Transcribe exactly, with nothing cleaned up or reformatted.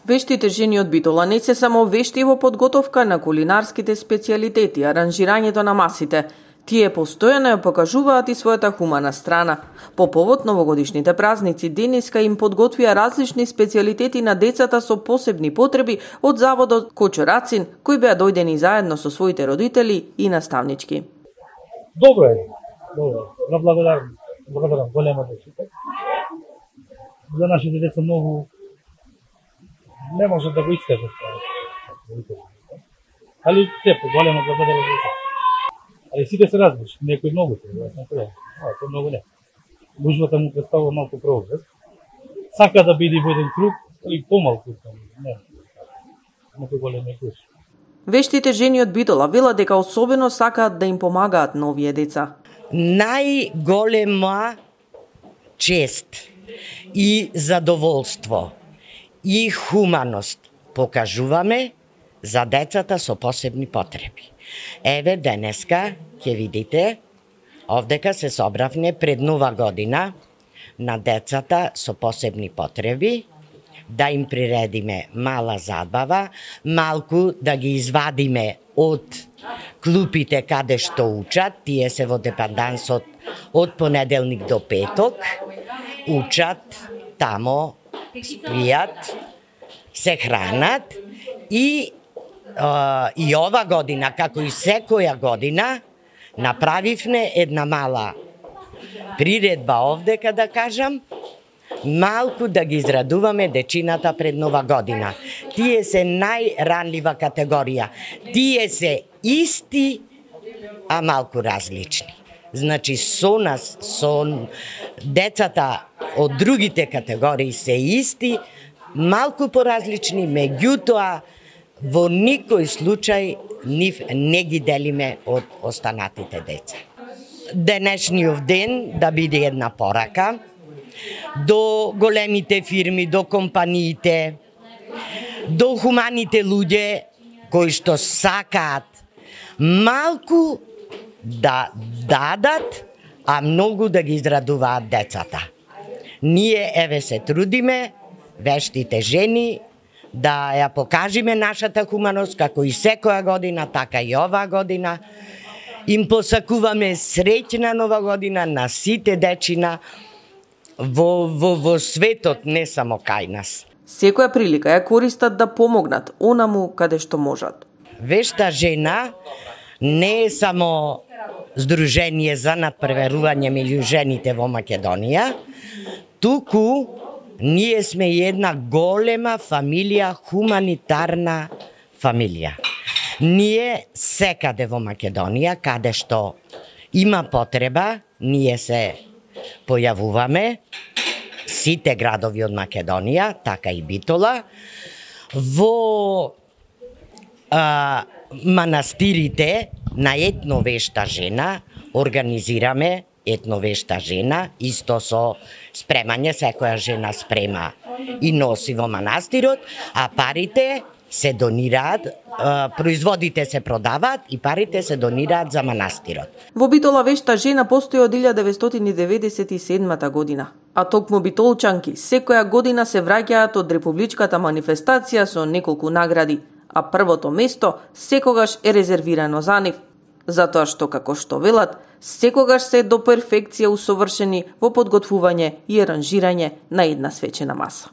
Вештите жени од Битола не се само вешти во подготовка на кулинарските специјалитети, аранжирањето на масите. Тие постојано ја покажуваат и својата хумана страна. По повод новогодишните празници, денеска им подготвија различни специјалитети на децата со посебни потреби од заводот Кочо Рацин, кои беа дојдени заедно со своите родители и наставнички. Добро е, добро. Да благодарам, благодарам голема дечите. За нашите деца многу не може да го искажат. Али сепак голема благодарам. Али сите се различни, некои многу се, јас не треба. А, тоа многу не. Гужвата му представува малку прогрес. Сака да биде во еден круг, или помалку, не. Некои големи гужви. Вештите жени од Битола велат дека особено сакаат да им помагаат на овие деца. Најголема чест и задоволство и хуманост покажуваме за децата со посебни потреби. Еве денеска ќе видите, овдека се собравме пред нова година на децата со посебни потреби, да им приредиме мала забава, малку да ги извадиме од клупите каде што учат, тие се во депандансот од понеделник до петок, учат, тамо спијат, се хранат и Uh, и ова година, како и секоја година, направивме една мала приредба овдека, да кажам, малку да ги израдуваме дечината пред нова година. Тие се најранлива категорија. Тие се исти, а малку различни. Значи, со нас, со децата од другите категории се исти, малку поразлични, меѓутоа, во никој случај нив не ги делиме од останатите деца. Денешниот ден да биде една порака до големите фирми, до компаниите, до хуманите луѓе кои што сакаат малку да дадат, а многу да ги израдуваат децата. Ние еве се трудиме, вештите жени, да ја покажиме нашата хуманост, како и секоја година, така и оваа година. Им посакуваме среќна нова година на сите дечина во, во, во светот, не само кај нас. Секоја прилика ја користат да помогнат онаму каде што можат. Вешта жена не е само здружение за надпреварување меѓу жените во Македонија, туку ние сме една голема фамилија, хуманитарна фамилија. Ние секаде во Македонија, каде што има потреба, ние се појавуваме, сите градови од Македонија, така и Битола, во а, манастирите на етновешта жена организираме етновешта жена, исто со спремање, секоја жена спрема и носи во манастирот, а парите се донираат, производите се продаваат и парите се донираат за манастирот. Во Битола вешта жена постои од илјада деветстотини деветдесет и седма година, а токму битолчанки секоја година се враќаат од републичката манифестација со неколку награди, а првото место секогаш е резервирано за нив, затоа што, како што велат, секогаш се до перфекција усовршени во подготвување и аранжирање на една свечена маса.